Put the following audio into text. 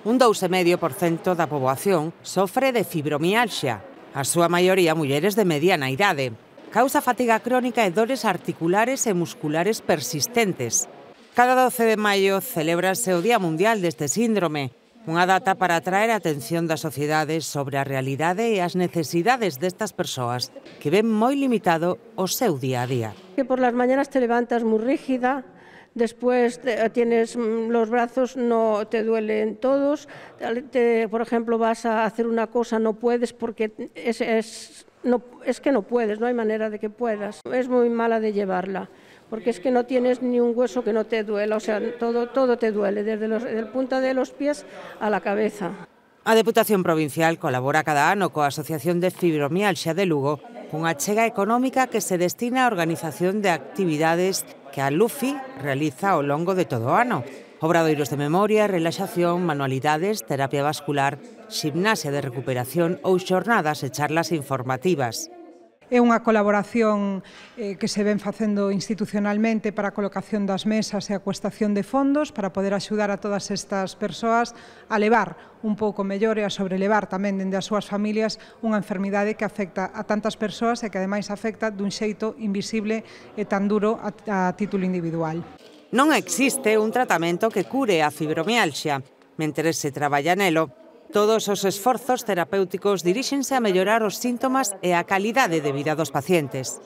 Un 2,5% da poboación sofre de fibromialxia, a súa maioría mulleres de mediana idade. Causa fatiga crónica e dores articulares e musculares persistentes. Cada 12 de maio celébrase o Día Mundial deste síndrome, unha data para atraer a atención da sociedade sobre a realidade e as necesidades destas persoas que ven moi limitado o seu día a día. Que por las mañanas te levantas muy rígida, después tienes los brazos, no te duelen todos, por ejemplo vas a hacer una cosa, no puedes porque es que no puedes, no hay manera de que puedas. Es muy mala de llevarla, porque es que no tienes ni un hueso que no te duela, o sea, todo te duele, desde la punta de los pies a la cabeza. A Deputación Provincial colabora cada ano coa Asociación de Fibromialxia de Lugo cunha achega económica que se destina á organización de actividades que a LUFI realiza ao longo de todo o ano. Obradoiros de memoria, relaxación, manualidades, terapia vascular, ximnasia de recuperación ou xornadas e charlas informativas. É unha colaboración que se ven facendo institucionalmente para a colocación das mesas e a cuestación de fondos para poder axudar a todas estas persoas a levar un pouco mellor e a sobrelevar tamén dende as súas familias unha enfermidade que afecta a tantas persoas e que ademais afecta dun xeito invisible e tan duro a título individual. Non existe un tratamento que cure a fibromialxia. Mentres se traballa nelo, todos os esforzos terapéuticos diríxense a mellorar os síntomas e a calidade de vida dos pacientes.